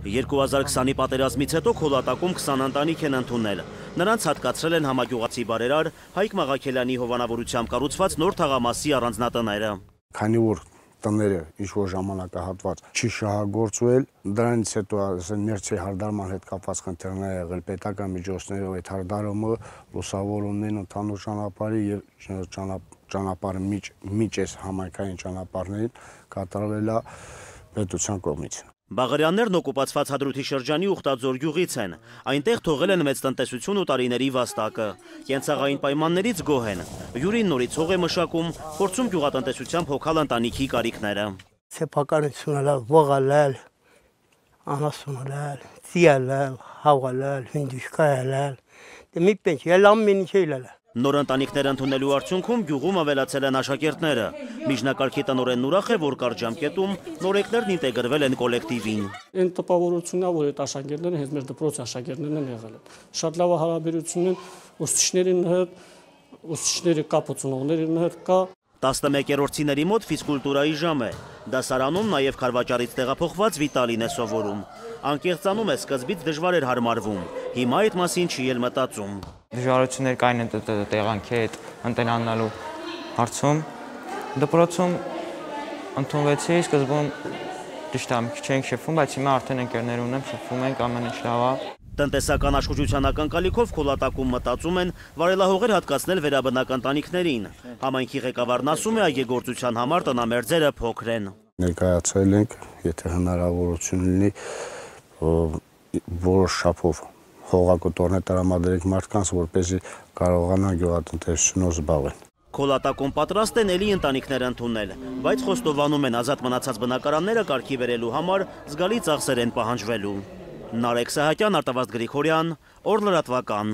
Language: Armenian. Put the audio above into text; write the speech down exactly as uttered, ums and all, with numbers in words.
երկու հազար քսանի պատերազմից հետո Քոլատակում քսան ընտանիք են ընդունել։ Նրանց հատկացրել են համագյուղացի բարերար Հայկ Մաղաքելյանի հովանավորությամբ կառուցված նոր թաղամասի առանձնատները։ Քանի որ տները ինչ-որ ժամանակահատված չի շահագործվել, դրանից հետո ներսի հարդարման հետ կապված խնդիրներ եղել պետական միջոցներով այդ հարդարումը լուսավորումներն ընդհանուր ճանապարհի եւ ճանապարհի միջ այս համայնքային ճանապարհներին կատարվել է պետության կողմից։ Բաղարյաններն օկուպացված Հադրութի շրջանի Ուխտաձոր գյուղից են։ Այնտեղ թողել են մեծ տնտեսություն ու տարիների վաստակը։ Կենցաղային պայմաններից գոհ են։ Յուրին նորից հող է մշակում, փորձում գյուղատնտեսությամբ հոգալ ընտանիքի կարիքները։ Սեփականությունը ողալել, անասունալել, ծիալել, հավալել, հինդուշկայել, դե մի պենչ ելամ մինչելել։ Նոր ընտանիքներ ընդունելու արդյունքում գյուղում ավելացել են աշակերտները։ Միջնակարգի տնօրենն ուրախ է, որ կարճ ժամկետում նորեկներն ինտեգրվել են կոլեկտիվին։ Այն տպավորությունն է, որ այդ աշակերտները հենց մեր դպրոցի աշակերտներն են եղել են։ Շատ լավ հարաբերություն են ուսուցիչների հետ, ուսուցիչների կապ ունողների հետ կա։ տասնմեկերորդիների մոտ ֆիզկուլտուրայի ժամ է։ Դասարանում նաև Քարվաճարից տեղափոխված Վիտալին է սովորում։ Անկեղծանում է, սկզբից դժվար էր հարմարվում, հիմա այդ մասին չի էլ մտածում։ Դժվարություններ կային տեղանքի հետ ընտելանալու հարցում։ Դպրոցում ընդունվեցի, սկզբում ճիշտ է, քիչ էինք շփվում, բայց հիմա արդեն ընկերներ ունեմ, շփվում ենք, ամեն ինչ լավ է։ Տնտեսական աշխուժության ակնկալիքով Քոլատակում մտածում են վարելահողեր հատկացնել վերաբնակ ընտանիքներին։ Համայնքի ղեկավարն ասում է, այգեգործության համար տնամերձերը փոքր են։ Ներկայացել ենք, եթե հնարավորություն լինի, որոշ չափով հողակտորներ տրամադրենք մարդկանց, որպեսզի կարողանան գյուղատնտեսությունով զբաղվել։ Քոլատակում պատրաստ են էլի ընտանիքներ ընդունել, բայց խոստովանում են ազատ մնացած բնակարանները կարգի բերելու համար զգալի ծախսեր են պահանջվելու։ Նարեկ Սահակյան, Արտավազդ Գրիգորյան, Օր լրատվական։